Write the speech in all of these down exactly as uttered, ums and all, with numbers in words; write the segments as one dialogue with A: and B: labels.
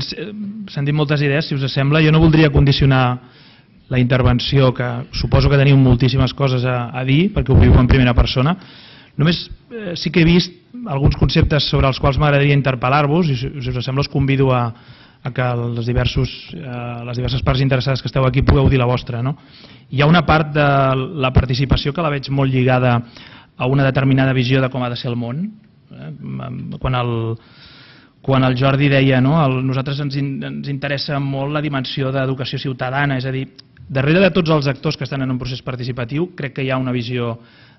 A: s'han dit moltes idees, si us sembla. Jo no voldria condicionar la intervenció, que suposo que teniu moltíssimes coses a, a dir, perquè ho viu en primera persona. Només eh, sí que he vist alguns conceptes sobre els quals m'agradaria interpel·lar-vos, i si, si us sembla us convido a, a que les, diversos, eh, les diverses parts interessades que esteu aquí pugueu dir la vostra. No? Hi ha una part de la participació que la veig molt lligada a una determinada visió de com ha de ser el món. Eh? Quan el Quan el Jordi deia, no, el, nosaltres ens, in, ens interessa molt la dimensió d'educació ciutadana, és a dir, darrere de tots els actors que estan en un procés participatiu, crec que hi ha una visió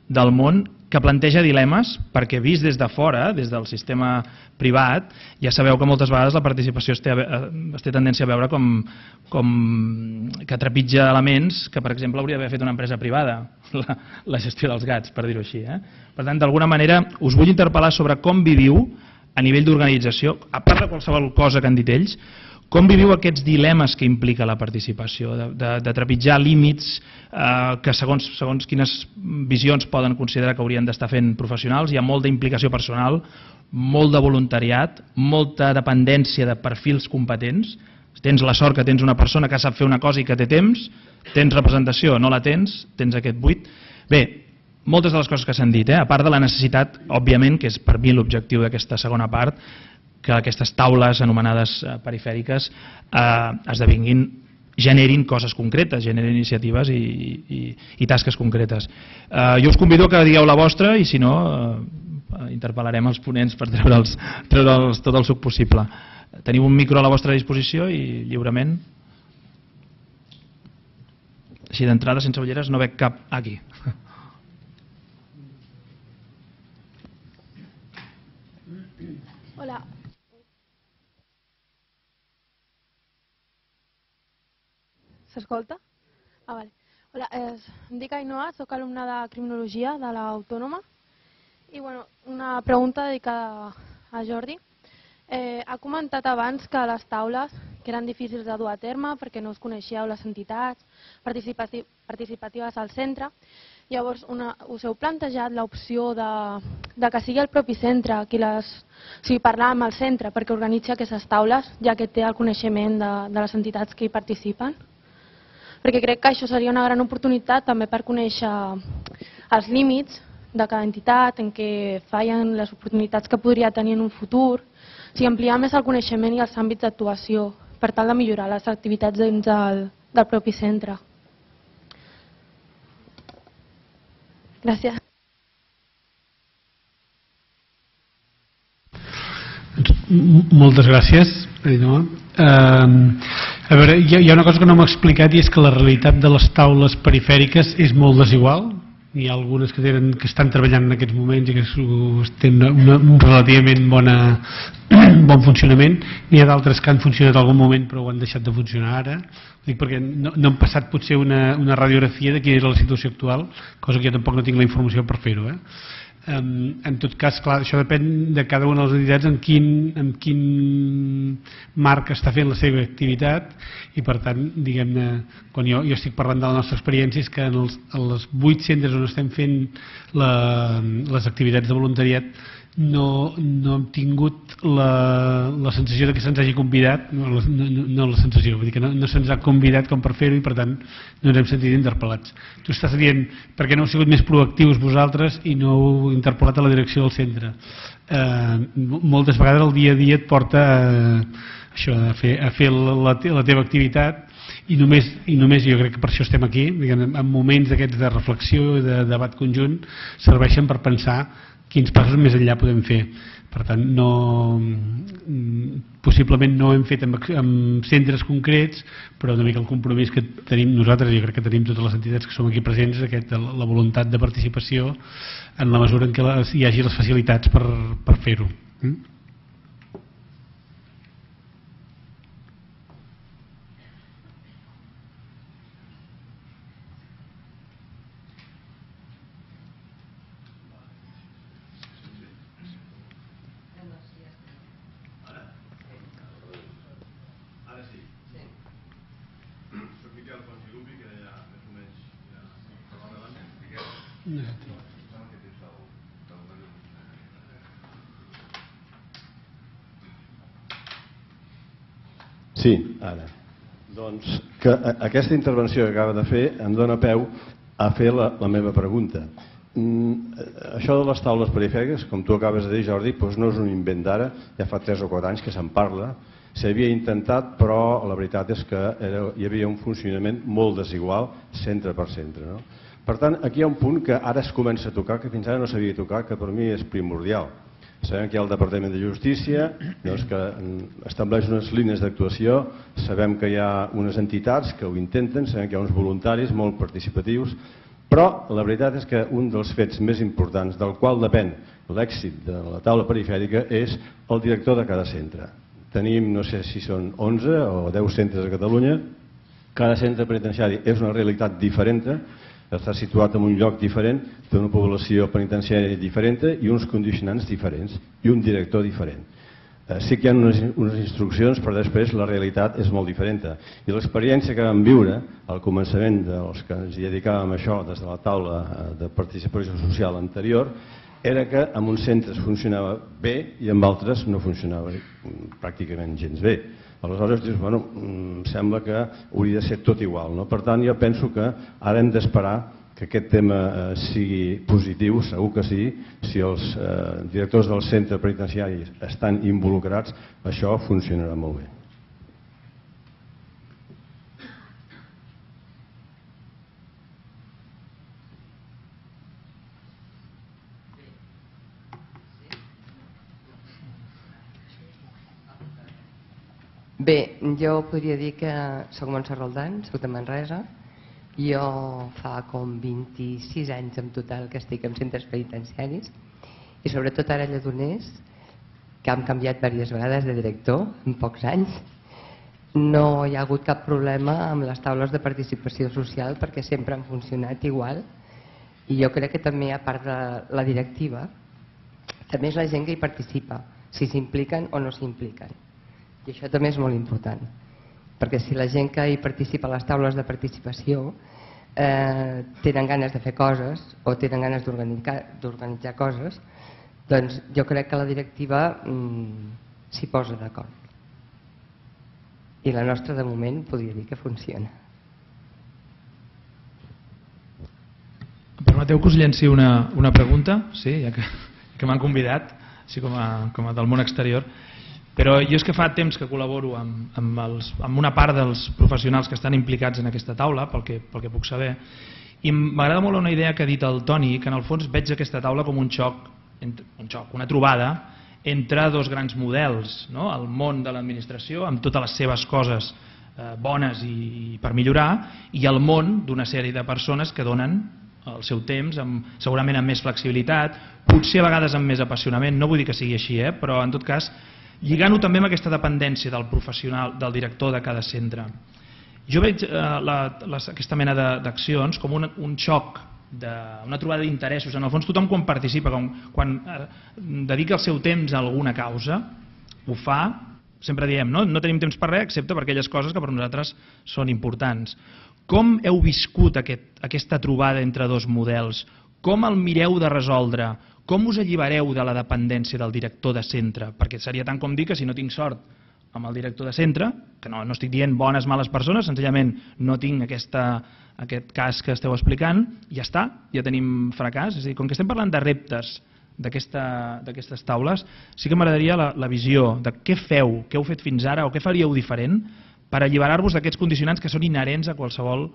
A: del món que planteja dilemes, perquè vist des de fora, des del sistema privat, ja sabeu que moltes vegades la participació es té, es té tendència a veure com, com que trepitja elements que, per exemple, hauria d'haver fet una empresa privada, la, la gestió dels gats, per dir-ho així. Eh? Per tant, d'alguna manera, us vull interpel·lar sobre com viviu a nivell d'organització, a part de qualsevol cosa que han dit ells, com viviu aquests dilemes que implica la participació, de, de, de trepitjar límits eh, que segons, segons quines visions poden considerar que haurien d'estar fent professionals, hi ha molta implicació personal, molt de voluntariat, molta dependència de perfils competents. Tens la sort que tens una persona que sap fer una cosa i que té temps, tens representació, no la tens, tens aquest buit. Bé, moltes de les coses que s'han dit, eh? A part de la necessitat, òbviament, que és per mi l'objectiu d'aquesta segona part, que aquestes taules anomenades eh, perifèriques eh, esdevinguin, generin coses concretes, generin iniciatives i, i, i tasques concretes. Eh, jo us convido que digueu la vostra i si no, eh, interpel·larem els ponents per treure'ls treure tot el suc possible. Teniu un micro a la vostra disposició i lliurement. Així d'entrada, sense ulleres, no veig cap aquí.
B: Hola. S'escolta? Ah, vale. Hola, eh, em dic Ainhoa, soc alumna de Criminologia de l'Autònoma i bueno, una pregunta dedicada a Jordi. Eh, ha comentat abans que les taules que eren difícils de dur a terme perquè no us coneixíeu les entitats participati participatives al centre. Llavors, una, us heu plantejat l'opció de, de que sigui el propi centre qui les... O sigui, parlar amb el centre perquè organitzi aquestes taules, ja que té el coneixement de, de les entitats que hi participen? Perquè crec que això seria una gran oportunitat també per conèixer els límits de cada entitat, en què fallen les oportunitats que podria tenir en un futur, o sigui, ampliar més el coneixement i els àmbits d'actuació per tal de millorar les activitats dins del, del propi centre. Gràcies.
C: Moltes gràcies, Ainhoa. Uh, a veure, hi ha, hi ha una cosa que no m'ha explicat i és que la realitat de les taules perifèriques és molt desigual. Hi ha algunes que, tenen, que estan treballant en aquests moments i que tenen una, un relativament bona, bon funcionament. N'hi ha d'altres que han funcionat en algun moment però ho han deixat de funcionar ara. Dic perquè no, no han passat potser una, una radiografia de quina era la situació actual, cosa que jo tampoc no tinc la informació per fer-ho. Eh? Um, en tot cas, clar, això depèn de cada una de les entitats en quin, en quin marc està fent la seva activitat i per tant, diguem-ne, quan jo, jo estic parlant de la nostra experiència és que en els, en els vuit centres on estem fent la, les activitats de voluntariat no, no hem tingut la, la sensació de que se'ns hagi convidat, no, no, no la sensació, vull dir que no, no se'ns ha convidat com per fer-ho i per tant no ens hem sentit interpel·lats. Tu estàs dient per què no heu sigut més proactius vosaltres i no heu interpel·lat a la direcció del centre. Eh, moltes vegades el dia a dia et porta a, això, a fer, a fer la, la, la teva activitat i només, i només jo crec que per això estem aquí, diguem, en moments d'aquests de reflexió i de debat conjunt serveixen per pensar quins passos més enllà podem fer. Per tant, no, possiblement no hem fet amb, amb centres concrets, però una mica el compromís que tenim nosaltres, jo crec que tenim totes les entitats que som aquí presents, aquest, la voluntat de participació en la mesura en què les, hi hagi les facilitats per, per fer-ho. Mm?
D: Sí, ara. Doncs que aquesta intervenció que acaba de fer em dona peu a fer la, la meva pregunta. Mm, això de les taules perifèriques, com tu acabes de dir, Jordi, doncs no és un invent d'ara, ja fa tres o quatre anys que se'n parla. S'havia intentat, però la veritat és que era, hi havia un funcionament molt desigual, centre per centre. No? Per tant, aquí hi ha un punt que ara es comença a tocar, que fins ara no s'havia tocat, que per mi és primordial. Sabem que hi ha el Departament de Justícia, doncs, que estableix unes línies d'actuació, sabem que hi ha unes entitats que ho intenten, sabem que hi ha uns voluntaris molt participatius, però la veritat és que un dels fets més importants del qual depèn l'èxit de la taula perifèrica és el director de cada centre. Tenim, no sé si són onze o deu centres a Catalunya, cada centre penitenciari és una realitat diferent, està situat en un lloc diferent, té una població penitenciària diferent i uns condicionants diferents i un director diferent. Sí que hi ha unes, unes instruccions, però després la realitat és molt diferent. I l'experiència que vam viure al començament dels que ens hi dedicàvem a això des de la taula de participació social anterior era que en uns centres funcionava bé i en altres no funcionava pràcticament gens bé. Aleshores dius, bueno, sembla que hauria de ser tot igual, no? Per tant, jo penso que ara hem d'esperar que aquest tema sigui positiu, segur que sí, si els directors del centre penitenciari estan involucrats, això funcionarà molt bé.
E: Bé, jo podria dir que soc Montse Roldán, soc de Manresa. Jo fa com vint-i-sis anys en total que estic en centres penitenciaris i sobretot ara a Lledoners, que hem canviat diverses vegades de director en pocs anys. No hi ha hagut cap problema amb les taules de participació social perquè sempre han funcionat igual i jo crec que també a part de la directiva també és la gent que hi participa, si s'impliquen o no s'impliquen. I això també és molt important, perquè si la gent que hi participa a les taules de participació eh, tenen ganes de fer coses o tenen ganes d'organitzar coses, doncs jo crec que la directiva mm, s'hi posa d'acord. I la nostra de moment podria dir que funciona.
A: Em permeteu que us llenci una, una pregunta? Sí, ja que, que m'han convidat, així com a, com a del món exterior. Però jo és que fa temps que col·laboro amb, amb, els, amb una part dels professionals que estan implicats en aquesta taula, pel que, pel que puc saber, i m'agrada molt una idea que ha dit el Toni, que en el fons veig aquesta taula com un xoc, un xoc, una trobada entre dos grans models, no? El món de l'administració, amb totes les seves coses eh, bones i, i per millorar, i el món d'una sèrie de persones que donen el seu temps, amb, segurament amb més flexibilitat, potser a vegades amb més apassionament, no vull dir que sigui així, eh? Però en tot cas lligant-ho també amb aquesta dependència del professional, del director de cada centre. Jo veig eh, la, la, aquesta mena d'accions com un, un xoc, de, una trobada d'interessos. En el fons tothom quan participa, quan, quan eh, dedica el seu temps a alguna causa, ho fa, sempre diem, no, no tenim temps per res excepte per aquelles coses que per nosaltres són importants. Com heu viscut aquest, aquesta trobada entre dos models? Com el mireu de resoldre? Com us allibereu de la dependència del director de centre? Perquè seria tant com dir que si no tinc sort amb el director de centre, que no, no estic dient bones o males persones, senzillament no tinc aquesta, aquest cas que esteu explicant, ja està, ja tenim fracàs. És a dir, com que estem parlant de reptes d'aquestes taules, sí que m'agradaria la, la visió de què feu, què heu fet fins ara o què faríeu diferent per alliberar-vos d'aquests condicionants que són inherents a qualsevol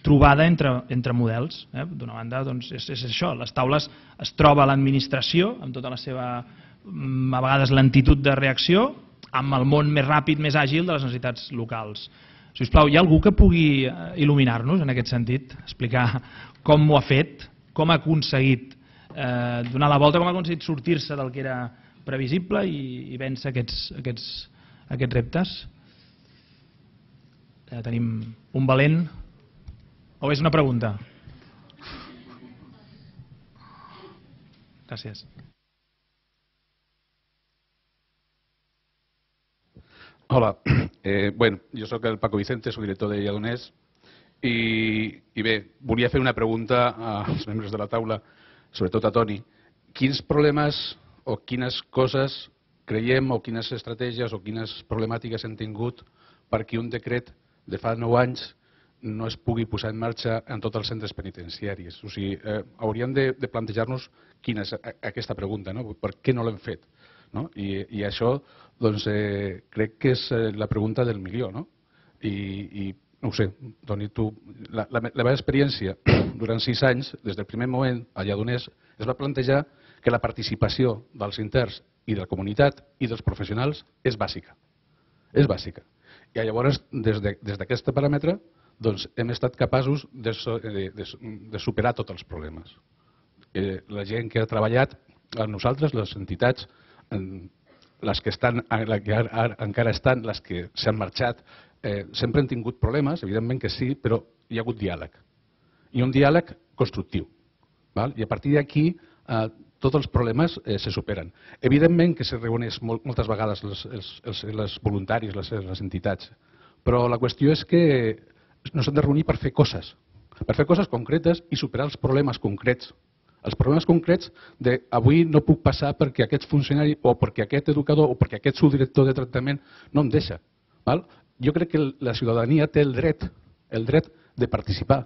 A: trobada entre, entre models. Eh? D'una banda, doncs, és, és això, les taules es troba l'administració amb tota la seva, a vegades, lentitud de reacció, amb el món més ràpid, més àgil de les necessitats locals. Si us plau, hi ha algú que pugui il·luminar-nos en aquest sentit, explicar com ho ha fet, com ha aconseguit eh, donar la volta, com ha aconseguit sortir-se del que era previsible i, i vèncer aquests, aquests, aquests reptes? Eh, tenim un valent. O és una pregunta? Gràcies.
F: Hola, eh, bueno, jo sóc el Paco Vicente, soc director de Lledoners i, i bé, volia fer una pregunta als membres de la taula, sobretot a Toni. Quins problemes o quines coses creiem o quines estratègies o quines problemàtiques hem tingut perquè un decret de fa nou anys no es pugui posar en marxa en tots els centres penitenciaris. O sigui, eh, hauríem de, de plantejar-nos quina és aquesta pregunta, no? Per què no l'hem fet? No? I, I això, doncs, eh, crec que és la pregunta del milió, no? I, i no ho sé, Toni, tu, la, la, la meva experiència durant sis anys, des del primer moment a Lledoners, es va plantejar que la participació dels interns i de la comunitat i dels professionals és bàsica. És bàsica. I llavors, des d'aquest paràmetre, doncs, hem estat capaços de, de, de, de superar tots els problemes. Eh, la gent que ha treballat amb nosaltres, les entitats, les que estan, les que ara, encara estan, les que s'han marxat, eh, sempre han tingut problemes, evidentment que sí, però hi ha hagut diàleg. I un diàleg constructiu. Val? I a partir d'aquí eh, tots els problemes eh, se superen. Evidentment que se reuneix molt, moltes vegades els, els, els, els voluntaris, les, les entitats, però la qüestió és que no s'han de reunir per fer coses, per fer coses concretes i superar els problemes concrets. Els problemes concrets de avui no puc passar perquè aquest funcionari o perquè aquest educador o perquè aquest subdirector de tractament no em deixa. Val? Jo crec que la ciutadania té el dret, el dret de participar.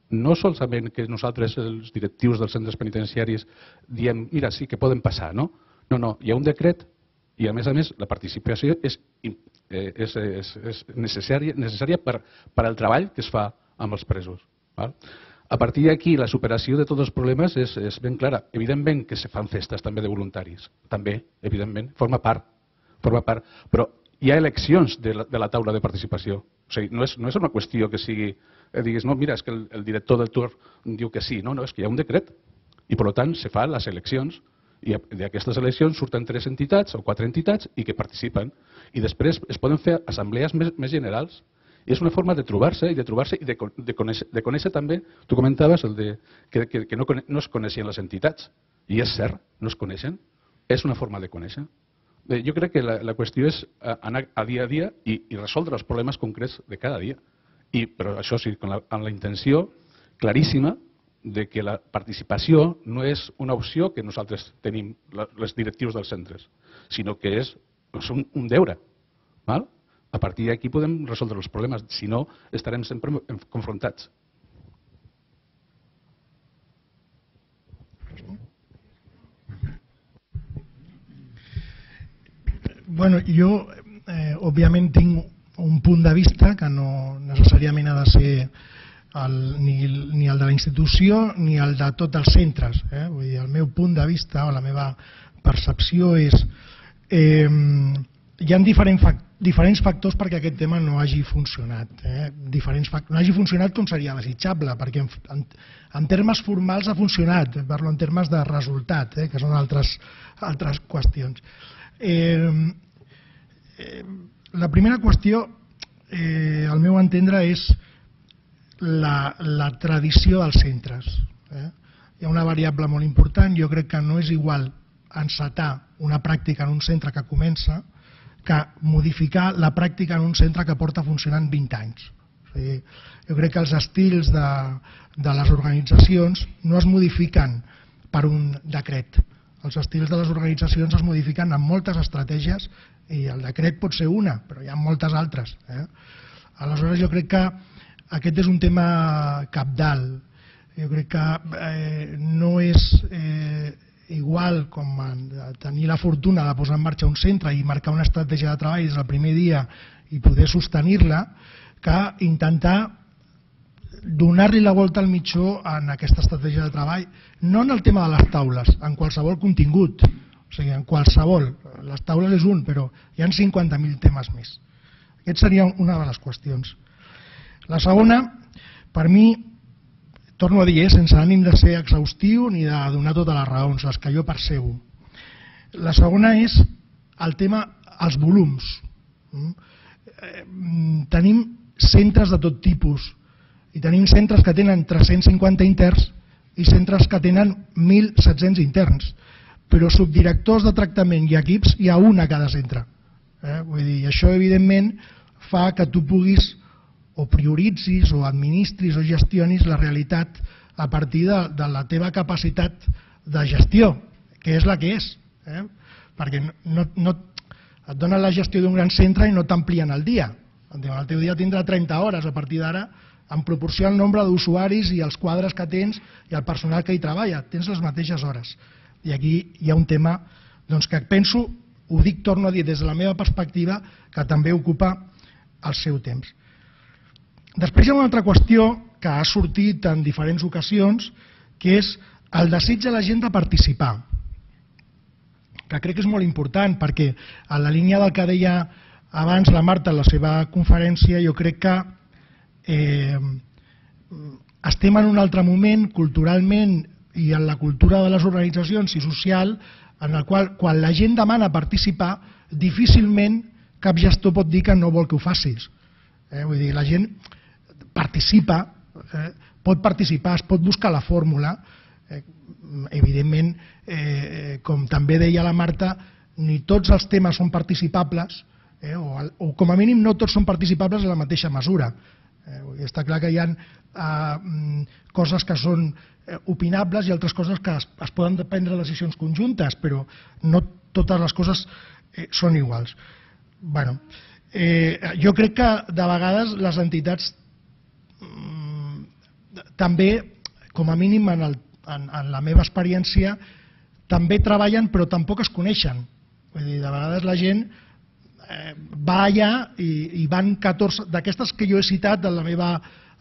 F: No solament que nosaltres, els directius dels centres penitenciaris, diem, mira, sí que poden passar, no? No, no, hi ha un decret i, a més a més, la participació és, eh, és, és, és necessària, necessària per, per al treball que es fa amb els presos. Val? A partir d'aquí, la superació de tots els problemes és, és ben clara. Evidentment que se fan festes també de voluntaris. També, evidentment, forma part. Forma part. Però hi ha eleccions de la, de la taula de participació. O sigui, no és, no és una qüestió que sigui, eh, diguis, no, mira, és que el, el director del torn diu que sí. No, no, és que hi ha un decret. I, per tant, se fan les eleccions. I d'aquestes eleccions surten tres entitats o quatre entitats i que participen. I després es poden fer assemblees més, més generals. I és una forma de trobar-se i de trobar-se i de, de, conèixer, de conèixer també, tu comentaves el de, que, que, que no, no es coneixien les entitats. I és cert, no es coneixen. És una forma de conèixer. Bé, jo crec que la, la qüestió és anar a dia a dia i, i resoldre els problemes concrets de cada dia. I, però això sí, amb la, amb la intenció claríssima de que la participació no és una opció que nosaltres tenim, les directius dels centres, sinó que és, és un, un deure. Val? A partir d'aquí podem resoldre els problemes, si no estarem sempre confrontats.
G: Bueno, jo, eh, òbviament, tinc un punt de vista que no necessàriament ha de ser el, ni, ni el de la institució ni el de tots els centres. Eh? Vull dir, el meu punt de vista o la meva percepció és eh, hi ha diferents, diferents factors perquè aquest tema no hagi funcionat. Eh? Diferents factors, no hagi funcionat com seria desitjable, perquè en, en, en termes formals ha funcionat, parlo en termes de resultat, eh? que són altres, altres qüestions. Eh, eh, la primera qüestió, eh, al meu entendre, és La, la tradició dels centres. Eh? Hi ha una variable molt important, jo crec que no és igual encetar una pràctica en un centre que comença que modificar la pràctica en un centre que porta funcionant vint anys. O sigui, jo crec que els estils de, de les organitzacions no es modifiquen per un decret. Els estils de les organitzacions es modifiquen amb moltes estratègies i el decret pot ser una, però hi ha moltes altres. Eh? Aleshores jo crec que aquest és un tema cabdal. Jo crec que eh, no és eh, igual com tenir la fortuna de posar en marxa un centre i marcar una estratègia de treball des del primer dia i poder sostenir-la, que intentar donar-li la volta al mitjó en aquesta estratègia de treball, no en el tema de les taules, en qualsevol contingut, o sigui, en qualsevol. Les taules és un, però hi ha cinquanta mil temes més. Aquest seria una de les qüestions. La segona, per mi, torno a dir, eh, sense ànim de ser exhaustiu ni de donar totes les raons, les que jo percebo. La segona és el tema, els volums. Tenim centres de tot tipus i tenim centres que tenen tres-cents cinquanta interns i centres que tenen mil set-cents interns, però subdirectors de tractament i equips hi ha un a cada centre. Eh? Vull dir, això evidentment fa que tu puguis o prioritzis o administris o gestionis la realitat a partir de, de la teva capacitat de gestió, que és la que és. Eh? Perquè no, no, et donen la gestió d'un gran centre i no t'amplien el dia. El teu dia tindrà trenta hores a partir d'ara, en proporció al nombre d'usuaris i els quadres que tens i el personal que hi treballa. Tens les mateixes hores. I aquí hi ha un tema doncs, que penso, ho dic, torno a dir, des de la meva perspectiva, que també ocupa el seu temps. Després hi ha una altra qüestió que ha sortit en diferents ocasions, que és el desig de la gent de participar, que crec que és molt important, perquè en la línia del que deia abans la Marta en la seva conferència, jo crec que eh, estem en un altre moment, culturalment i en la cultura de les organitzacions i social, en el qual quan la gent demana participar, difícilment cap gestor pot dir que no vol que ho facis. Eh? Vull dir, la gent participa, eh, pot participar, es pot buscar la fórmula. Eh, evidentment, eh, com també deia la Marta, ni tots els temes són participables, eh, o, o com a mínim no tots són participables en la mateixa mesura. Eh, està clar que hi ha eh, coses que són eh, opinables i altres coses que es, es poden prendre decisions conjuntes, però no totes les coses eh, són iguals. Bueno, eh, jo crec que de vegades les entitats també, com a mínim en, el, en, en la meva experiència, també treballen però tampoc es coneixen. Vull dir, de vegades la gent eh, va allà i, i van catorze, d'aquestes que jo he citat en la meva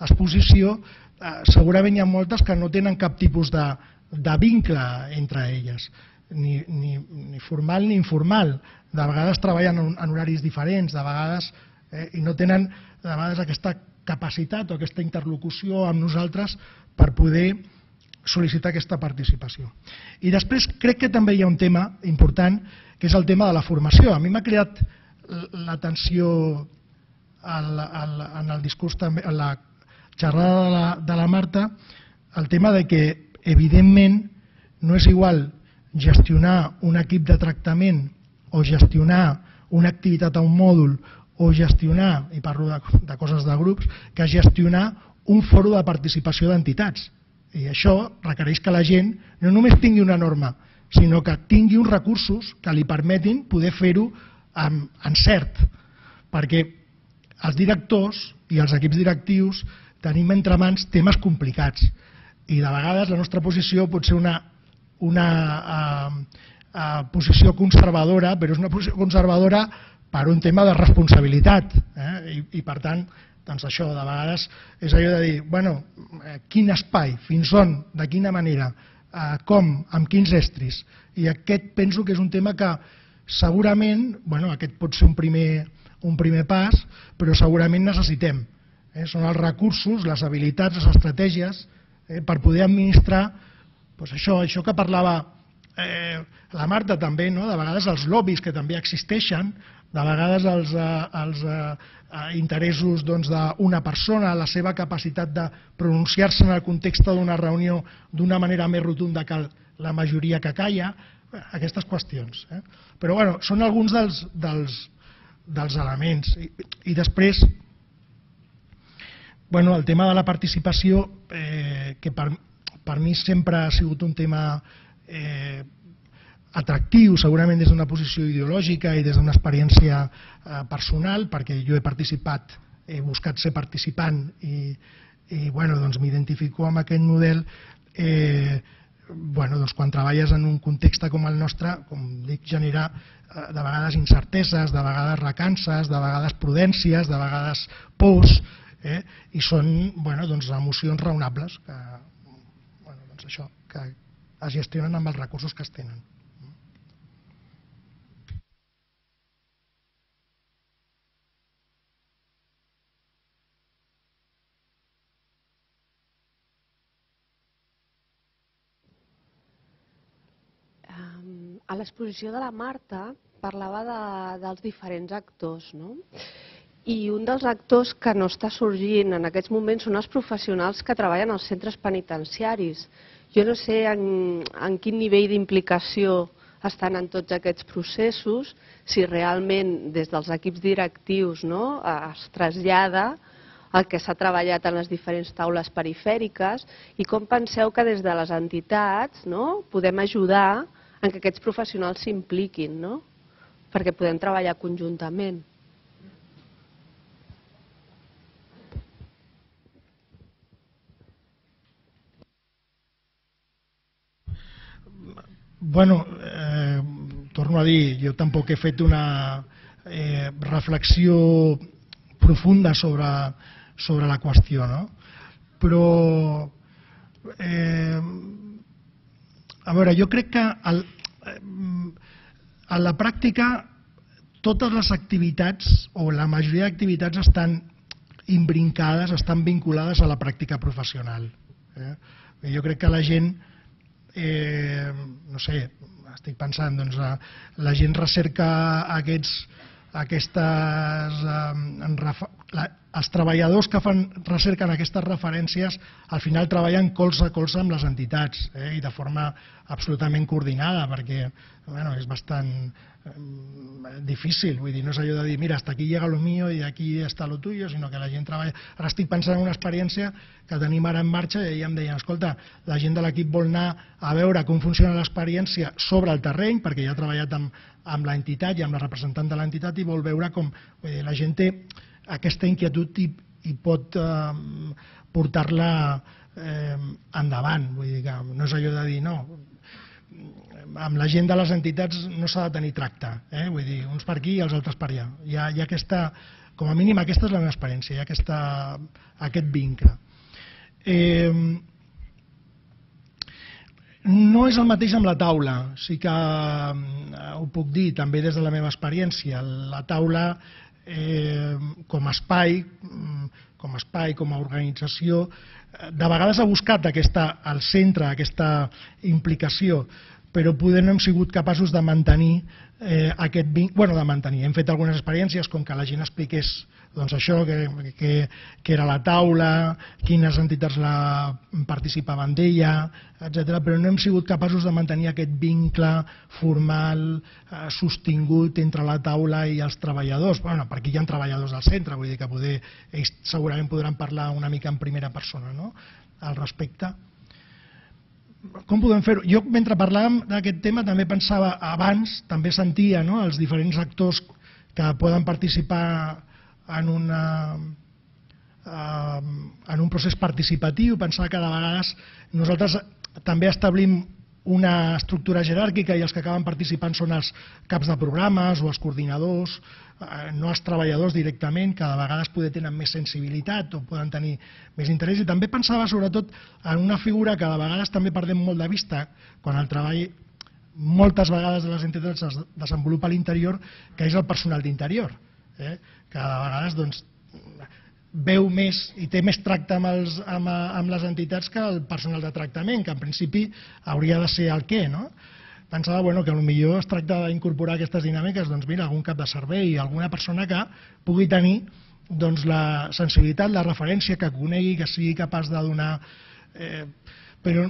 G: exposició, eh, segurament hi ha moltes que no tenen cap tipus de, de vincle entre elles, ni, ni, ni formal ni informal. De vegades treballen en, en horaris diferents, de vegades, eh, i no tenen de vegades aquesta capacitat o aquesta interlocució amb nosaltres per poder sol·licitar aquesta participació. I després crec que també hi ha un tema important, que és el tema de la formació. A mi m'ha cridat l'atenció en el discurs, en la xerrada de la, de la Marta, el tema de que, evidentment, no és igual gestionar un equip de tractament o gestionar una activitat a un mòdul o gestionar, i parlo de, de coses de grups, que gestionar un fòrum de participació d'entitats. I això requereix que la gent no només tingui una norma, sinó que tingui uns recursos que li permetin poder fer-ho amb encert, perquè els directors i els equips directius tenim entre mans temes complicats i de vegades la nostra posició pot ser una, una uh, uh, posició conservadora, però és una posició conservadora per un tema de responsabilitat, eh? I, i per tant, doncs això, de vegades és allò de dir, bueno, eh, quin espai, fins on, de quina manera, eh, com, amb quins estris, i aquest penso que és un tema que segurament, bueno, aquest pot ser un primer, un primer pas, però segurament necessitem. Eh? Són els recursos, les habilitats, les estratègies, eh, per poder administrar doncs això, això que parlava eh, la Marta també, no? De vegades els lobbies que també existeixen, de vegades els, eh, els eh, interessos doncs, d'una persona, la seva capacitat de pronunciar-se en el context d'una reunió d'una manera més rotunda que la majoria que calla, aquestes qüestions. Eh? Però bueno, són alguns dels, dels, dels elements. I, i després, bueno, el tema de la participació, eh, que per, per mi sempre ha sigut un tema eh, atractiu, segurament des d'una posició ideològica i des d'una experiència eh, personal, perquè jo he participat, he buscat ser participant i, i bueno, doncs m'identifico amb aquest model. Eh, bueno, doncs quan treballes en un context com el nostre, com dic, genera eh, de vegades incerteses, de vegades recances, de vegades prudències, de vegades pors, eh, i són bueno, doncs, emocions raonables que, bueno, doncs això, que es gestionen amb els recursos que es tenen.
H: A l'exposició de la Marta parlava de, dels diferents actors, no? I un dels actors que no està sorgint en aquests moments són els professionals que treballen als centres penitenciaris. Jo no sé en, en quin nivell d'implicació estan en tots aquests processos, si realment des dels equips directius, no, es trasllada el que s'ha treballat en les diferents taules perifèriques i com penseu que des de les entitats, no, podem ajudar en que aquests professionals s'impliquin, no? Perquè podem treballar conjuntament.
G: bueno, eh, torno a dir, jo tampoc he fet una eh, reflexió profunda sobre, sobre la qüestió, no? Però, eh, a veure, jo crec que el, a la pràctica totes les activitats o la majoria d'activitats estan imbrincades, estan vinculades a la pràctica professional. Eh? Jo crec que la gent, eh, no sé, estic pensant, doncs la, la gent recerca aquests, aquestes, eh, la, els treballadors que fan recerquen aquestes referències al final treballen colze a colze amb les entitats eh, i de forma absolutament coordinada, perquè bueno, és bastant eh, difícil, vull dir, no és allò de dir mira, hasta aquí llega lo mío i aquí està lo tuyo, sinó que la gent treballa. Ara estic pensant en una experiència que tenim ara en marxa i ja em deien, escolta, la gent de l'equip vol anar a veure com funciona l'experiència sobre el terreny, perquè ja ha treballat amb, amb l'entitat i amb la representant de l'entitat i vol veure com vull dir, la gent té aquesta inquietud i, i pot eh, portar-la eh, endavant. Vull dir que no és allò de dir no, amb la gent de les entitats no s'ha de tenir tracte, eh? Vull dir, uns per aquí i els altres per allà. Hi ha, hi ha aquesta, com a mínim aquesta és la meva experiència, hi ha aquesta, aquest vincle. Eh, no és el mateix amb la taula, sí que eh, ho puc dir també des de la meva experiència. La taula Eh, com a espai, com a espai, com a organització, de vegades ha buscat aquesta, al centre aquesta implicació, però poder no hem sigut capaços de mantenir eh, aquest vincle, bueno, de mantenir. Hem fet algunes experiències com que la gent expliqués doncs això, que, que, que era la taula, quines entitats la participaven d'ella, etcètera, però no hem sigut capaços de mantenir aquest vincle formal, eh, sostingut entre la taula i els treballadors. Bueno, perquè hi ha treballadors del centre, vull dir que poder, ells segurament podran parlar una mica en primera persona, no?, al respecte. Com podem fer-ho? Jo, mentre parlàvem d'aquest tema, també pensava, abans també sentia no, els diferents actors que poden participar en, una, en un procés participatiu, pensava que de vegades nosaltres també establim una estructura jeràrquica i els que acaben participant són els caps de programes o els coordinadors, no els treballadors directament, que de vegades poder tenen més sensibilitat o poden tenir més interès. I també pensava sobretot en una figura que de vegades també perdem molt de vista quan el treball moltes vegades de les entitats es desenvolupa a l'interior, que és el personal d'interior, eh? que de vegades doncs, veu més i té més tracte amb, els, amb, amb les entitats que el personal de tractament, que en principi hauria de ser el què, no? Pensava bueno, que potser es tracta d'incorporar aquestes dinàmiques, doncs mira, algun cap de servei, alguna persona que pugui tenir doncs, la sensibilitat, la referència, que conegui, que sigui capaç de donar... Eh, però,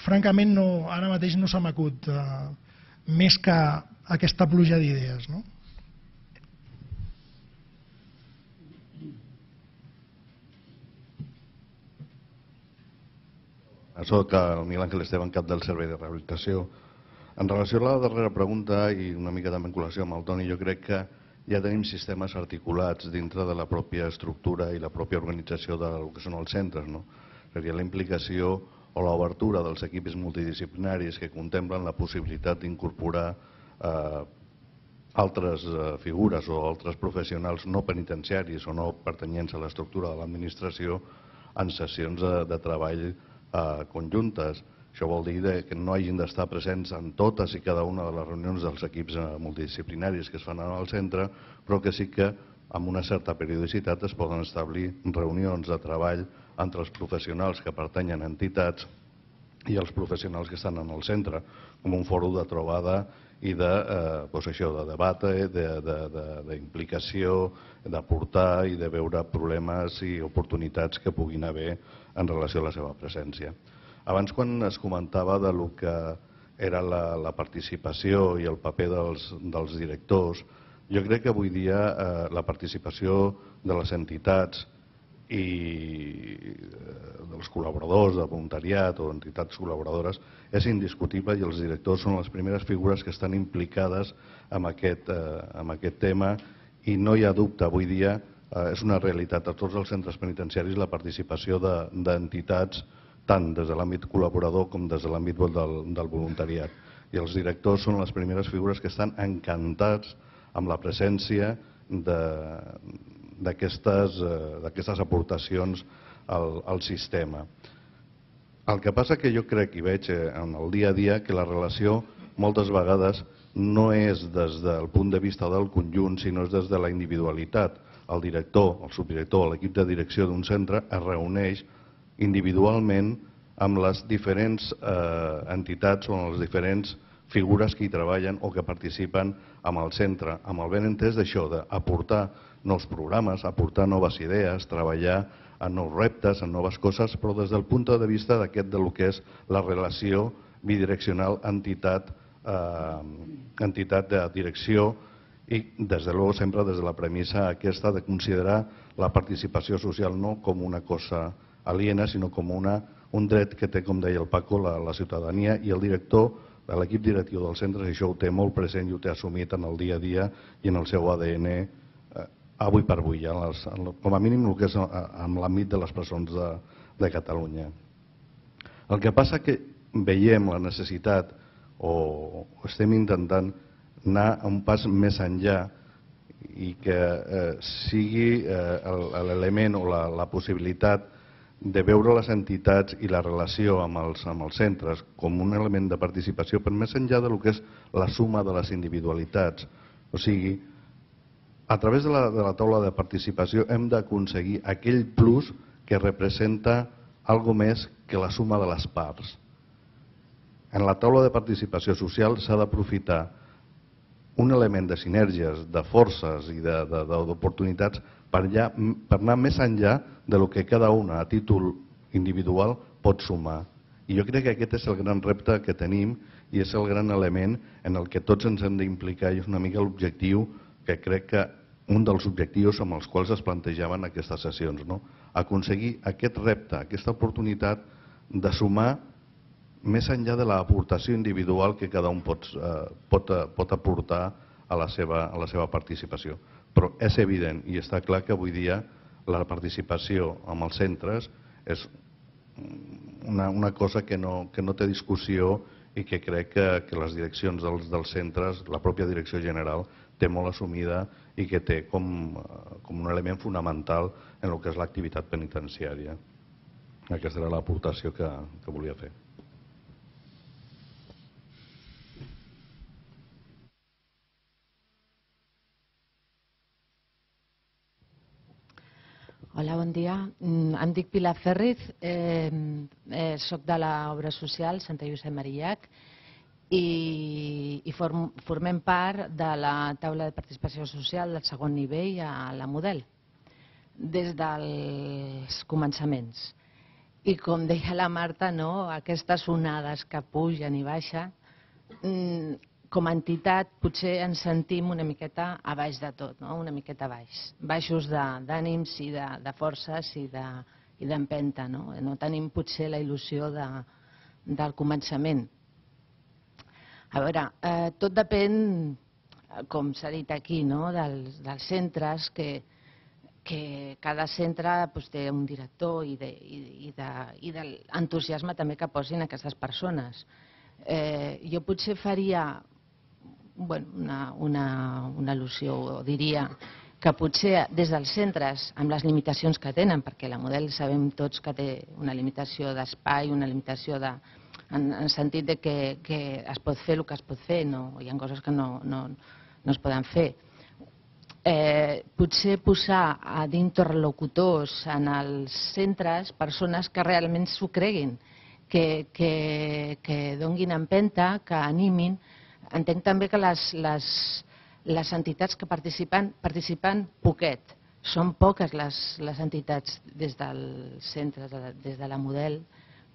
G: francament, no, ara mateix no se m'acut eh, més que aquesta pluja d'idees, no?
I: Soc el Miguel Ángel Esteban, cap del Servei de Rehabilitació. En relació a la darrera pregunta i una mica també en col·lació amb el Toni, jo crec que ja tenim sistemes articulats dintre de la pròpia estructura i la pròpia organització del que són els centres, no? Seria la implicació o l'obertura dels equips multidisciplinaris que contemplen la possibilitat d'incorporar eh, altres eh, figures o altres professionals no penitenciaris o no pertanyents a l'estructura de l'administració en sessions de, de treball Eh, conjuntes. Això vol dir que no hagin d'estar presents en totes i cada una de les reunions dels equips multidisciplinaris que es fan al centre, però que sí que amb una certa periodicitat es poden establir reunions de treball entre els professionals que pertanyen a entitats i els professionals que estan en el centre, com un fòrum de trobada i de, eh, doncs això, de debat, d'implicació, d'aportar i de veure problemes i oportunitats que puguin haver en relació a la seva presència. Abans, quan es comentava de lo que era la, la participació i el paper dels, dels directors, jo crec que avui dia eh, la participació de les entitats i dels col·laboradors de voluntariat o entitats col·laboradores és indiscutible i els directors són les primeres figures que estan implicades en aquest, eh, en aquest tema i no hi ha dubte, avui dia eh, és una realitat a tots els centres penitenciaris la participació d'entitats de, tant des de l'àmbit col·laborador com des de l'àmbit del, del voluntariat. i els directors són les primeres figures que estan encantats amb la presència d'aquestes aportacions al, al sistema. El que passa que jo crec i veig en el dia a dia que la relació moltes vegades no és des del punt de vista del conjunt, sinó és des de la individualitat. El director, el subdirector, l'equip de direcció d'un centre es reuneix individualment amb les diferents eh, entitats o amb les diferents figures que hi treballen o que participen amb el centre, amb el ben entès d'això, d'aportar nous programes, aportar noves idees, treballar en nous reptes, en noves coses, però des del punt de vista d'aquest del que és la relació bidireccional entitat, eh, entitat de direcció i, des de luego, sempre des de la premissa aquesta de considerar la participació social no com una cosa aliena, sinó com una, un dret que té, com deia el Paco, la, la ciutadania, i el director, l'equip directiu dels centres, això ho té molt present i ho té assumit en el dia a dia i en el seu A D N eh, avui per avui, ja, les, com a mínim el que és en l'àmbit de les presons de, de Catalunya. El que passa que veiem la necessitat o estem intentant anar un pas més enllà i que eh, sigui eh, l'element o la, la possibilitat de veure les entitats i la relació amb els, amb els centres com un element de participació, però més enllà del que és la suma de les individualitats. O sigui, a través de la, de la taula de participació hem d'aconseguir aquell plus que representa algo més que la suma de les parts. En la taula de participació social s'ha d'aprofitar un element de sinergies, de forces i d'oportunitats per, per anar més enllà del que cada una a títol individual pot sumar. I jo crec que aquest és el gran repte que tenim i és el gran element en el que tots ens hem d'implicar i és una mica l'objectiu que crec que un dels objectius amb els quals es plantejaven aquestes sessions. No? Aconseguir aquest repte, aquesta oportunitat de sumar més enllà de l'aportació individual que cada un pot, eh, pot, pot aportar a la, seva, a la seva participació. Però és evident i està clar que avui dia la participació amb els centres és una, una cosa que no, que no té discussió i que crec que, que les direccions dels, dels centres, la pròpia direcció general, té molt assumida i que té com, com un element fonamental en el que és l'activitat penitenciària. Aquesta era l'aportació que, que volia fer.
J: Hola, bon dia. Em dic Pilar Ferriz, eh, eh, soc de l'obra social Santa Lluïsa Marillac i, i form, formem part de la taula de participació social del segon nivell a la Model, des dels començaments. I com deia la Marta, no, aquestes onades que pugen i baixen, com a entitat potser ens sentim una miqueta a baix de tot, no? Una miqueta a baix, baixos d'ànims i de, de forces i d'empenta. De, no? no tenim potser la il·lusió de, del començament. A veure, eh, tot depèn, com s'ha dit aquí, no? dels, dels centres, que, que cada centre pues, té un director i, de, i, i, de, i de l'entusiasme també que posin aquestes persones. Eh, jo potser faria bueno, una, una, una al·lusió, o diria que potser des dels centres, amb les limitacions que tenen, perquè la Model sabem tots que té una limitació d'espai, una limitació de, en, en sentit de que, que es pot fer el que es pot fer, no, hi ha coses que no, no, no es poden fer. Eh, potser posar d'interlocutors en els centres persones que realment s'ho creguin, que, que, que donguin empenta, que animin. Entenc també que les, les, les entitats que participen, participen poquet. Són poques les, les entitats des del centre, des de la Model,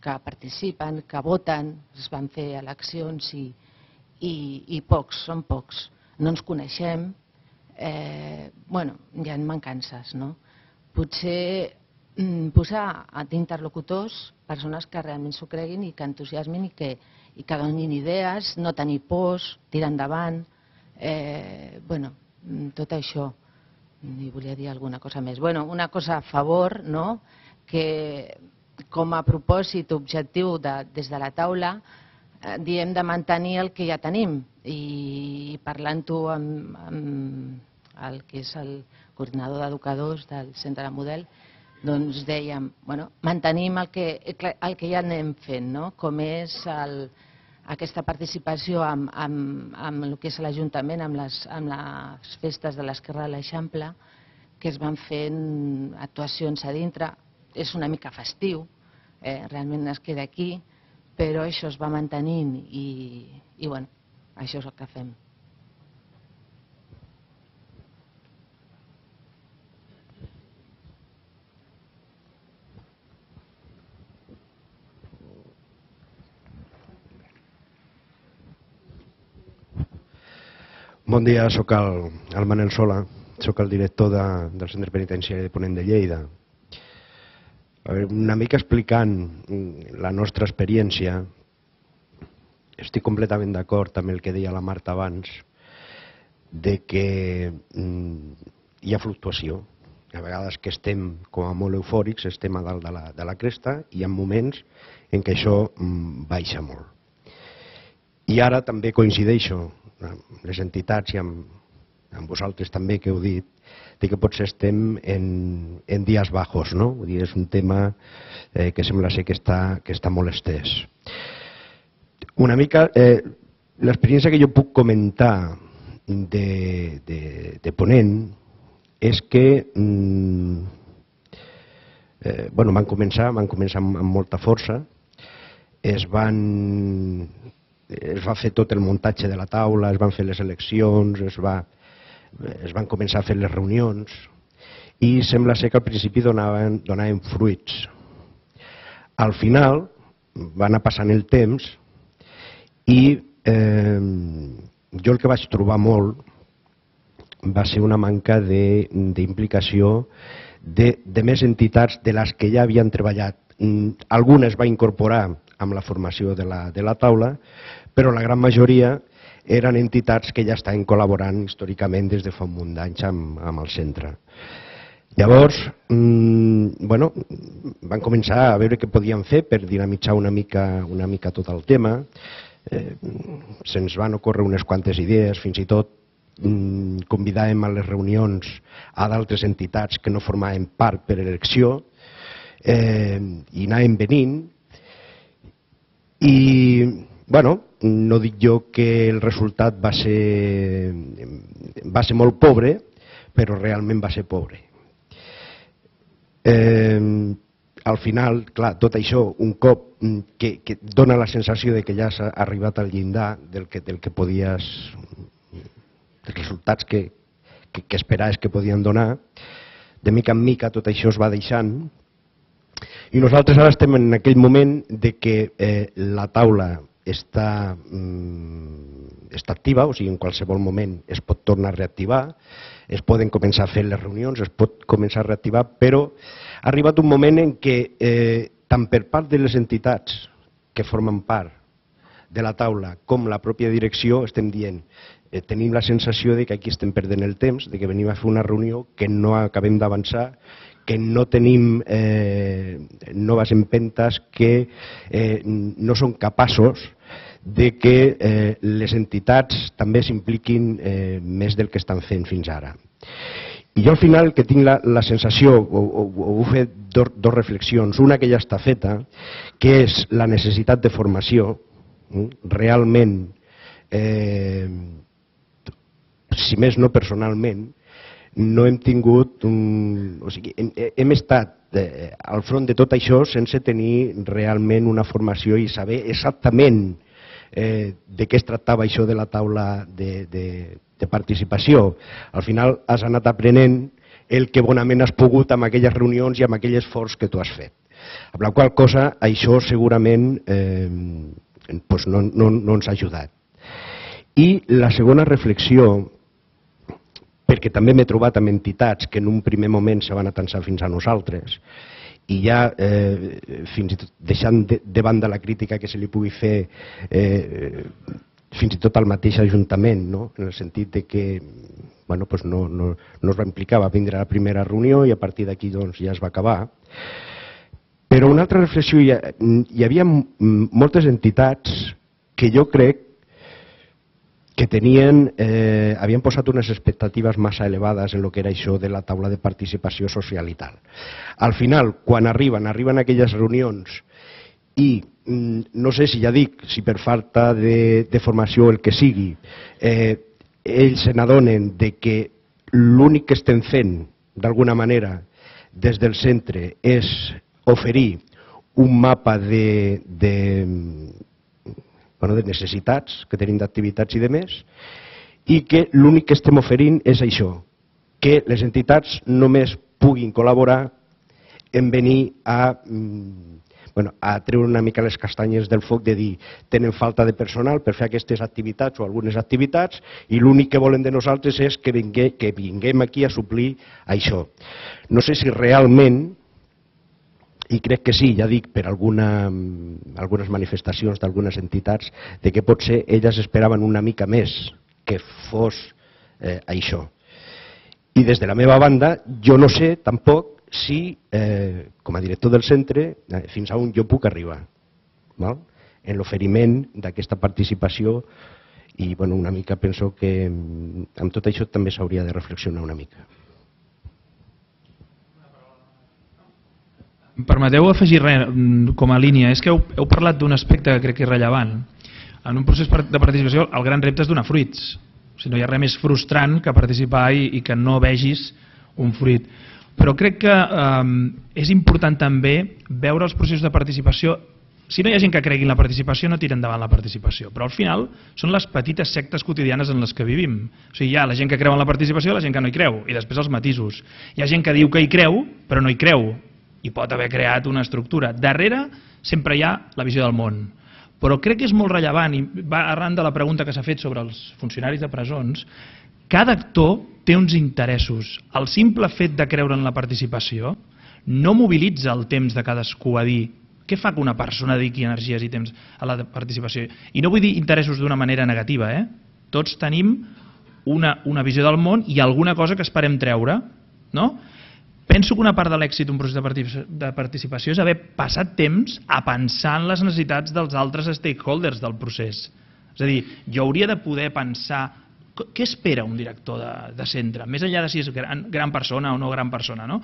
J: que participen, que voten, es van fer eleccions i, i, i pocs, són pocs. No ens coneixem, eh, bueno, hi ha mancances, no? Potser mm, posar d'interlocutors persones que realment s'ho creguin i que entusiasmin i que i que donin idees, no tenir pors, tirar endavant, eh, bueno, tot això. I volia dir alguna cosa més. Bueno, una cosa a favor, no?, que com a propòsit objectiu de, des de la taula diem de mantenir el que ja tenim i parlant-ho amb, amb el que és el coordinador d'educadors del centre de model, doncs dèiem, bueno, mantenim el que, el que ja anem fent, no? Com és el, aquesta participació amb, amb, amb el que és l'Ajuntament, amb, les, amb les festes de l'Esquerra de l'Eixample, que es van fent actuacions a dintre. És una mica festiu, eh? Realment es queda aquí, però això es va mantenint i, i bueno, això és el que fem.
K: Bon dia, soc el, el Manel Sola, soc el director de, del Centre Penitenciari de Ponent de Lleida. A veure, una mica explicant la nostra experiència, estic completament d'acord amb el que deia la Marta abans, de que mm, hi ha fluctuació. A vegades que estem com a molt eufòrics, estem a dalt de la, de la cresta, i hi ha moments en què això mm, baixa molt. I ara també coincideixo amb les entitats i amb, amb vosaltres també que heu dit, de que potser estem en, en dies bajos, no? Vull dir, és un tema eh, que sembla ser que està, que està molt estès. Una mica, eh, l'experiència que jo puc comentar de, de, de Ponent és que mm, eh, bueno, van començar, van començar amb, amb molta força, es van... es va fer tot el muntatge de la taula, es van fer les eleccions, es, va, es van començar a fer les reunions i sembla ser que al principi donaven, donaven fruits. Al final va anar passant el temps i eh, jo el que vaig trobar molt va ser una manca d'implicació de, de més entitats de les que ja havien treballat. Algunes va incorporar amb la formació de la, de la taula, però la gran majoria eren entitats que ja estaven col·laborant històricament des de fa un munt d'anys amb, amb el centre. Llavors, mmm, bueno, van començar a veure què podien fer per dinamitzar una mica, una mica tot el tema. Eh, se'ns van ocórrer unes quantes idees, fins i tot mmm, convidàvem a les reunions a d'altres entitats que no formaven part per elecció eh, i anàvem venint. I, bueno, no dic jo que el resultat va ser, va ser molt pobre, però realment va ser pobre. Eh, al final, clar, tot això, un cop que, que dona la sensació de que ja s'ha arribat al llindar del que, del que podies, dels resultats que, que, que esperaves que podien donar, de mica en mica tot això es va deixant. I nosaltres ara estem en aquell moment de que eh, la taula està, mm, està activa, o sigui, en qualsevol moment es pot tornar a reactivar, es poden començar a fer les reunions, es pot començar a reactivar, però ha arribat un moment en què eh, tant per part de les entitats que formen part de la taula com la pròpia direcció estem dient eh, tenim la sensació de que aquí estem perdent el temps, de que venim a fer una reunió que no acabem d'avançar, que no tenim eh, noves empentes, que eh, no són capaços de que eh, les entitats també s'impliquin eh, més del que estan fent fins ara. I jo al final que tinc la, la sensació, o, o, o ho he fet dos, dos reflexions, una que ja està feta, que és la necessitat de formació, realment, eh, si més no personalment, no hem tingut, un, o sigui, hem, hem estat eh, al front de tot això sense tenir realment una formació i saber exactament eh, de què es tractava això de la taula de, de, de participació. Al final has anat aprenent el que bonament has pogut amb aquelles reunions i amb aquell esforç que tu has fet. Amb la qual cosa això segurament eh, doncs no, no, no ens ha ajudat. I la segona reflexió, perquè també m'he trobat amb entitats que en un primer moment se van atansar fins a nosaltres i ja, eh, fins i tot deixant de, de banda la crítica que se li pugui fer eh, fins i tot al mateix Ajuntament, no? En el sentit de que bueno, pues no, no, no es va implicar, va vindre a la primera reunió i a partir d'aquí doncs, ja es va acabar. Però una altra reflexió, hi, ha, hi havia moltes entitats que jo crec que tenien, eh, havien posat unes expectatives massa elevades en el que era això de la taula de participació social i tal. Al final, quan arriben, arriben a aquelles reunions i no sé si ja dic, si per falta de, de formació el que sigui, eh, ells se n'adonen de que l'únic que estem fent, d'alguna manera, des del centre, és oferir un mapa de, de, bueno, de necessitats que tenim d'activitats i de més, i que l'únic que estem oferint és això, que les entitats només puguin col·laborar en venir a, bueno, a treure una mica les castanyes del foc de dir tenen falta de personal per fer aquestes activitats o algunes activitats i l'únic que volen de nosaltres és que vinguem, que vinguem aquí a suplir això. No sé si realment, i crec que sí, ja dic, per alguna, algunes manifestacions d'algunes entitats, de que potser elles esperaven una mica més que fos eh, això. I des de la meva banda, jo no sé tampoc si, eh, com a director del centre, eh, fins a on jo puc arribar, val? En l'oferiment d'aquesta participació i bueno, una mica penso que amb tot això també s'hauria de reflexionar una mica.
A: Permeteu afegir res com a línia. És que heu, heu parlat d'un aspecte que crec que és rellevant. En un procés de participació el gran repte és donar fruits. O sigui, no hi ha res més frustrant que participar i, i que no vegis un fruit. Però crec que eh, és important també veure els processos de participació. Si no hi ha gent que cregui en la participació, no tira endavant la participació. Però al final són les petites sectes quotidianes en les que vivim. O sigui, hi ha la gent que creu en la participació i la gent que no hi creu. I després els matisos. Hi ha gent que diu que hi creu, però no hi creu. I pot haver creat una estructura. Darrere sempre hi ha la visió del món. Però crec que és molt rellevant, i va arran de la pregunta que s'ha fet sobre els funcionaris de presons, cada actor té uns interessos. El simple fet de creure en la participació no mobilitza el temps de cadascú a dir què fa que una persona dediqui energies i temps a la participació. I no vull dir interessos d'una manera negativa, eh? Tots tenim una, una visió del món i alguna cosa que esperem treure, no? Penso que una part de l'èxit d'un procés de participació és haver passat temps a pensar en les necessitats dels altres stakeholders del procés. És a dir, jo hauria de poder pensar què espera un director de, de centre, més enllà de si és gran, gran persona o no gran persona, no?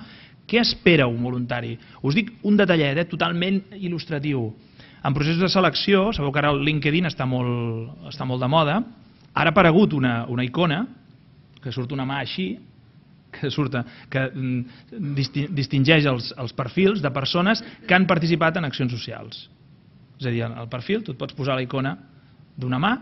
A: Què espera un voluntari? Us dic un detallet, eh, totalment il·lustratiu. En processos de selecció, sabeu que ara el LinkedIn està molt, està molt de moda, ara ha aparegut una, una icona, que surt una mà així, que, surta, que distingeix els, els perfils de persones que han participat en accions socials. És a dir, al perfil tu et pots posar la icona d'una mà.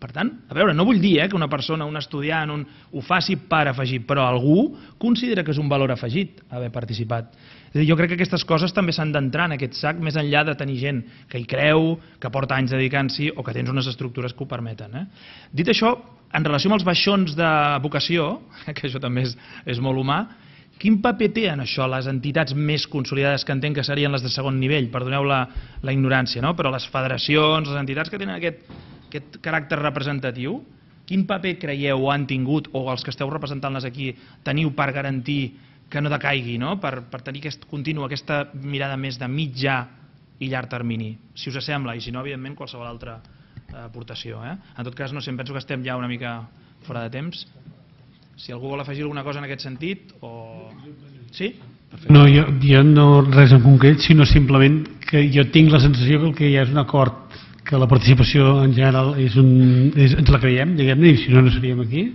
A: Per tant, a veure, no vull dir eh, que una persona, un estudiant, un, ho faci per afegir, però algú considera que és un valor afegit haver participat. És a dir, jo crec que aquestes coses també s'han d'entrar en aquest sac, més enllà de tenir gent que hi creu, que porta anys dedicant-s'hi o que tens unes estructures que ho permeten. Eh? Dit això, en relació amb els baixons de vocació, que això també és, és molt humà, quin paper té en això les entitats més consolidades que entenc que serien les de segon nivell, perdoneu la, la ignorància, no? Però les federacions, les entitats que tenen aquest, aquest caràcter representatiu, quin paper creieu o han tingut, o els que esteu representant-les aquí, teniu per garantir que no decaigui, no? Per, per tenir aquest continu, aquesta mirada més de mitjà i llarg termini, si us sembla, i si no, evidentment, qualsevol altra aportació. Eh? En tot cas, no sé, em penso que estem ja una mica fora de temps. Si algú vol afegir alguna cosa en aquest sentit, o... Sí? Perfecte.
C: No, jo, jo no res en concret, sinó simplement que jo tinc la sensació que el que hi ha és un acord, que la participació en general és un, és, ens la creiem, diguem-ne, i si no, no seríem aquí.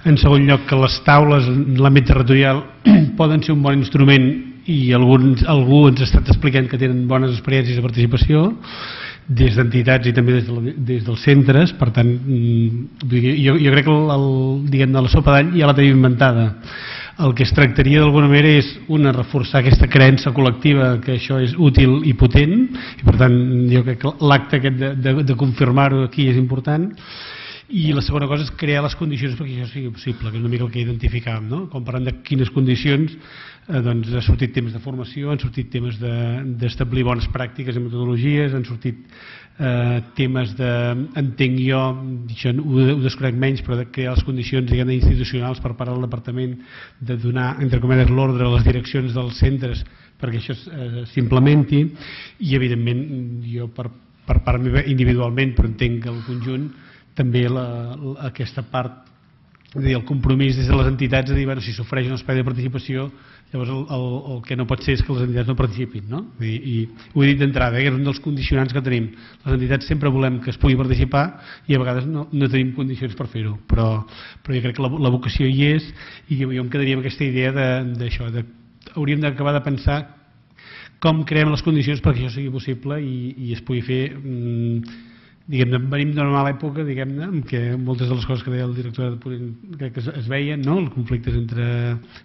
C: En segon lloc, que les taules en l'àmbit territorial poden ser un bon instrument i alguns, algú ens ha estat explicant que tenen bones experiències de participació, des d'entitats i també des, de, des dels centres. Per tant, jo, jo crec que el, el, diguem, la sopa d'all ja la tenim inventada. El que es tractaria d'alguna manera és una, reforçar aquesta creença col·lectiva que això és útil i potent, i per tant jo crec que l'acte aquest de, de, de confirmar-ho aquí és important. I la segona cosa és crear les condicions perquè això sigui possible, que és una mica el que identificàvem, no? Com parlant de quines condicions, eh, doncs ha sortit temes de formació, han sortit temes d'establir de, bones pràctiques i metodologies, han sortit eh, temes de, entenc jo, això ho, ho desconec menys, però de crear les condicions, diguem, institucionals per part del departament, de donar, entre cometes, l'ordre a les direccions dels centres perquè això eh, s'implementi, i evidentment jo per per part meva individualment, però entenc que el conjunt també aquesta part, el compromís des de les entitats de dir, bueno, si s'ofereix un espai de participació, llavors el, el, el que no pot ser és que les entitats no participin, no? I, i ho he dit d'entrada, eh, que és un dels condicionants que tenim. Les entitats sempre volem que es pugui participar i a vegades no, no tenim condicions per fer-ho, però, però jo crec que la, la vocació hi és i jo, jo em quedaria amb aquesta idea d'això, de, de, hauríem d'acabar de pensar com creem les condicions perquè això sigui possible i, i es pugui fer, mmm, diguem-ne, venim d'una mala època, diguem-ne, en què moltes de les coses que deia el director crec que es, es veien, no?, els conflictes entre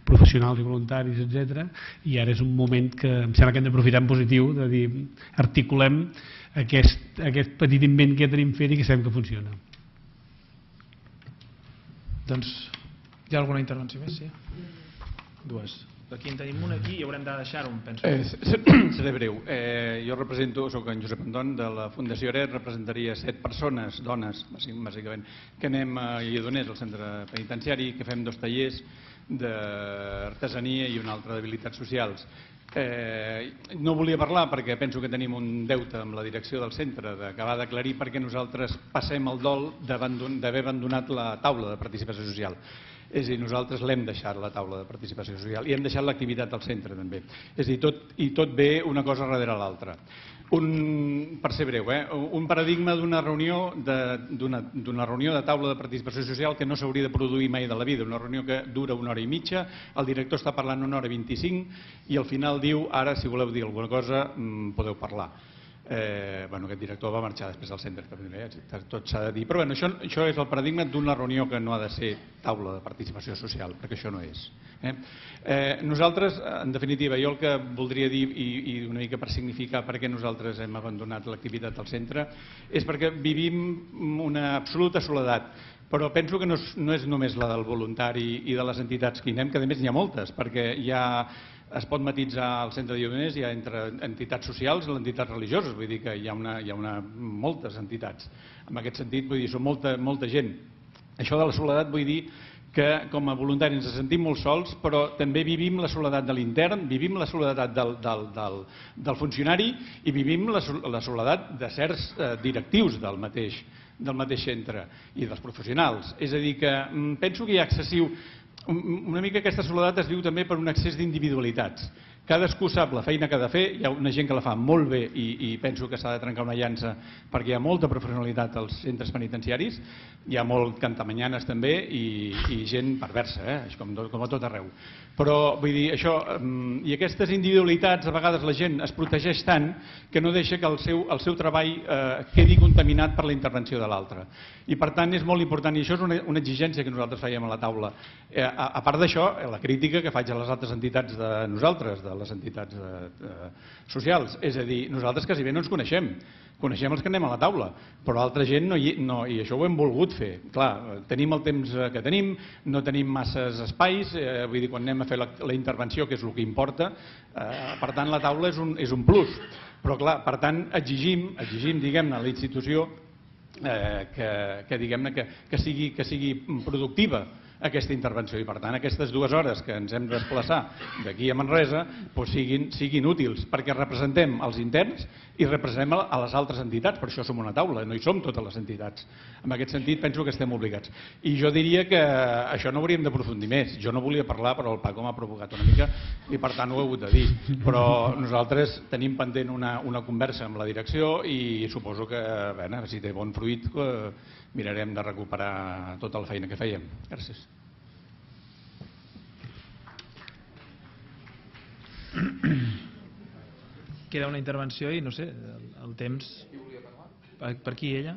C: professionals i voluntaris, etcètera, i ara és un moment que em sembla que hem d'aprofitar en positiu, de dir, articulem aquest, aquest petit invent que ja tenim fet i que sabem que funciona.
A: Doncs, hi ha alguna intervenció més? Sí? Dues. Aquí en tenim una aquí i haurem de deixar-ho, penso.
L: Eh, seré breu. Eh, jo represento, soc en Josep Anton, de la Fundació Aret, representaria set persones, dones, bàsicament, que anem a Lledoners, al centre penitenciari, que fem dos tallers d'artesania i un altre d'habilitats socials. Eh, no volia parlar perquè penso que tenim un deute amb la direcció del centre d'acabar d'aclarir perquè nosaltres passem el dol d'haver abandonat la taula de participació social. És a dir, nosaltres l'hem deixat la taula de participació social i hem deixat l'activitat al centre també. És a dir, tot, i tot ve una cosa darrere l'altra. Un, per ser breu, eh, un paradigma d'una reunió de, d'una reunió de taula de participació social que no s'hauria de produir mai de la vida, una reunió que dura una hora i mitja, el director està parlant una hora i vint-i-cinc i al final diu, ara si voleu dir alguna cosa podeu parlar. Eh, bueno, aquest director va marxar després del centre, eh? Tot s'ha de dir. Però bueno, això, això és el paradigma d'una reunió que no ha de ser taula de participació social, perquè això no és. Eh? Eh, nosaltres, en definitiva, jo el que voldria dir, i, i una mica per significar per què nosaltres hem abandonat l'activitat al centre, és perquè vivim una absoluta soledat. Però penso que no és, no és només la del voluntari i de les entitats que hi anem, que a més n'hi ha moltes, perquè hi ha... Es pot matitzar al centre de Lledoners, hi ha entre entitats socials i entitats religioses, vull dir que hi ha, una, hi ha una, moltes entitats. En aquest sentit, vull dir, són molta, molta gent. Això de la soledat vull dir que com a voluntaris ens sentim molt sols, però també vivim la soledat de l'intern, vivim la soledat del, del, del, del funcionari i vivim la, la soledat de certs eh, directius del mateix, del mateix centre i dels professionals. És a dir, que penso que hi ha excessiu... Una mica aquesta soledat es viu també per un excés d'individualitats. Cadascú sap la feina que ha de fer, hi ha una gent que la fa molt bé i, i penso que s'ha de trencar una llança perquè hi ha molta professionalitat als centres penitenciaris, hi ha molt cantamanyanes també i, i gent perversa, eh? com, com a tot arreu. Però vull dir, això, i aquestes individualitats, a vegades la gent es protegeix tant que no deixa que el seu, el seu treball eh, quedi contaminat per la intervenció de l'altre. I per tant és molt important, i això és una, una exigència que nosaltres fèiem a la taula. Eh, a, a part d'això, la crítica que faig a les altres entitats de nosaltres, de les entitats eh, eh, socials, és a dir, nosaltres quasi bé no ens coneixem. Coneixem els que anem a la taula, però altra gent no, hi, no, i això ho hem volgut fer. Clar, tenim el temps que tenim, no tenim masses espais, eh, vull dir, quan anem a fer la, la intervenció, que és el que importa, eh, per tant la taula és un, és un plus. Però clar, per tant, exigim, exigim diguem-ne, a la institució eh, que, que, diguem-ne, que, que, sigui, que sigui productiva aquesta intervenció i per tant aquestes dues hores que ens hem de desplaçar d'aquí a Manresa doncs siguin, siguin útils perquè representem els interns i representem a les altres entitats, per això som una taula, no hi som totes les entitats. En aquest sentit penso que estem obligats. I jo diria que això no hauríem d'aprofundir més. Jo no volia parlar però el Paco m'ha provocat una mica i per tant ho he hagut de dir. Però nosaltres tenim pendent una, una conversa amb la direcció i suposo que bé, si té bon fruit eh, mirarem de recuperar tota la feina que fèiem. Gràcies.
A: Queda una intervenció i no sé, el, el temps... Per, per qui ella?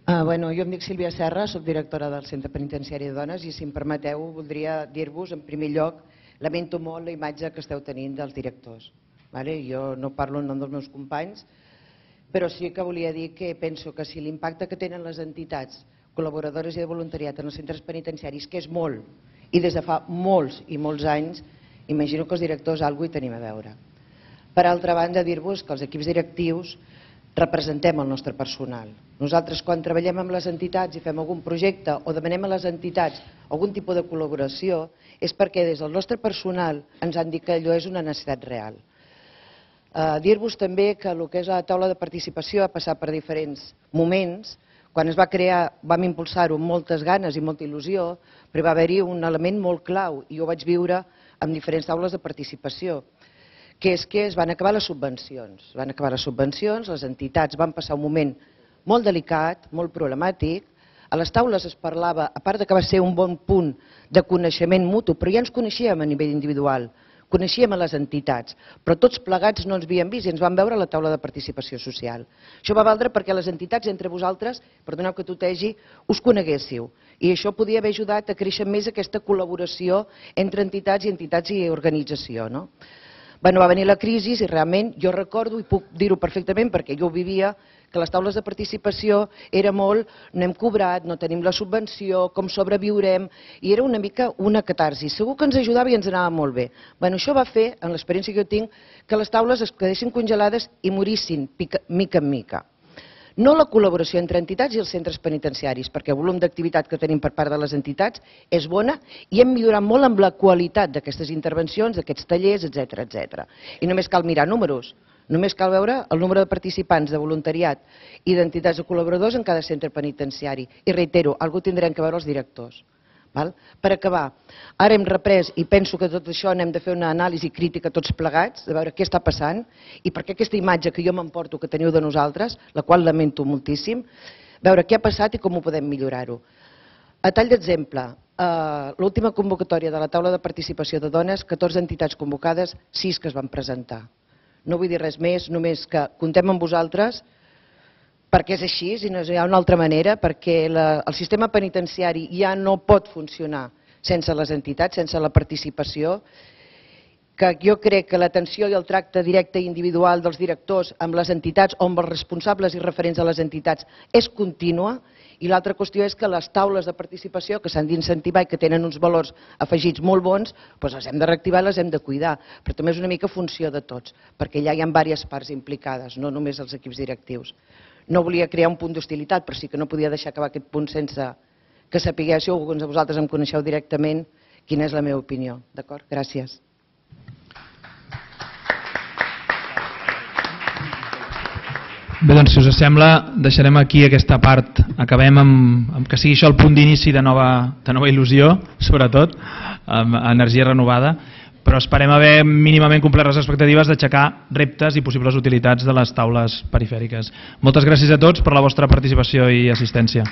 M: Uh, bueno, jo em dic Sílvia Serra, soc directora del Centre Penitenciari de Dones i si em permeteu voldria dir-vos en primer lloc lamento molt la imatge que esteu tenint dels directors. Vale? Jo no parlo en nom dels meus companys, però sí que volia dir que penso que si l'impacte que tenen les entitats col·laboradores i de voluntariat en els centres penitenciaris, que és molt, i des de fa molts i molts anys, imagino que els directors alguna cosa hi tenim a veure. Per altra banda, dir-vos que els equips directius representem el nostre personal. Nosaltres, quan treballem amb les entitats i fem algun projecte o demanem a les entitats algun tipus de col·laboració, és perquè des del nostre personal ens han dit que allò és una necessitat real. Eh, Dir-vos també que el que és la taula de participació ha passat per diferents moments. Quan es va crear vam impulsar-ho amb moltes ganes i molta il·lusió, però va haver-hi un element molt clau i jo vaig viure amb diferents taules de participació, que és que es van acabar les subvencions. Van acabar les subvencions, les entitats van passar un moment molt delicat, molt problemàtic. A les taules es parlava, a part que va ser un bon punt de coneixement mutu, però ja ens coneixíem a nivell individual, coneixíem a les entitats, però tots plegats no ens havíem vist i ens vam veure a la taula de participació social. Això va valdre perquè les entitats entre vosaltres, perdoneu que tutegi, us coneguéssiu. I això podia haver ajudat a créixer més aquesta col·laboració entre entitats i entitats i organització, no? Bueno, va venir la crisi i realment jo recordo, i puc dir-ho perfectament perquè jo ho vivia, que les taules de participació era molt, no hem cobrat, no tenim la subvenció, com sobreviurem, i era una mica una catarsi. Segur que ens ajudava i ens anava molt bé. Bueno, això va fer, en l'experiència que jo tinc, que les taules es quedessin congelades i morissin mica en mica. No la col·laboració entre entitats i els centres penitenciaris, perquè el volum d'activitat que tenim per part de les entitats és bona i hem millorat molt amb la qualitat d'aquestes intervencions, d'aquests tallers, etcètera, etcètera. I només cal mirar números, només cal veure el número de participants de voluntariat i d'entitats de col·laboradors en cada centre penitenciari. I reitero, algú tindrem que veure els directors. Per acabar, ara hem reprès i penso que tot això n'hem de fer una anàlisi crítica tots plegats, de veure què està passant i per què aquesta imatge que jo m'emporto que teniu de nosaltres, la qual lamento moltíssim, veure què ha passat i com ho podem millorar-ho. A tall d'exemple, l'última convocatòria de la taula de participació de dones, catorze entitats convocades, sis que es van presentar. No vull dir res més, només que comptem amb vosaltres, perquè és així i no hi ha una altra manera, perquè el sistema penitenciari ja no pot funcionar sense les entitats, sense la participació, que jo crec que l'atenció i el tracte directe i individual dels directors amb les entitats o amb els responsables i referents de les entitats és contínua, i l'altra qüestió és que les taules de participació que s'han d'incentivar i que tenen uns valors afegits molt bons, doncs les hem de reactivar i les hem de cuidar, però també és una mica funció de tots, perquè ja hi ha diverses parts implicades, no només els equips directius. No volia crear un punt d'hostilitat, però sí que no podia deixar acabar aquest punt sense que sapiguéssiu, alguns de vosaltres em coneixeu directament, quina és la meva opinió. D'acord? Gràcies.
A: Bé, doncs, si us sembla, deixarem aquí aquesta part. Acabem amb que sigui això el punt d'inici de nova il·lusió, sobretot, amb energia renovada, però esperem haver mínimament complert les expectatives d'aixecar reptes i possibles utilitats de les taules perifèriques. Moltes gràcies a tots per la vostra participació i assistència.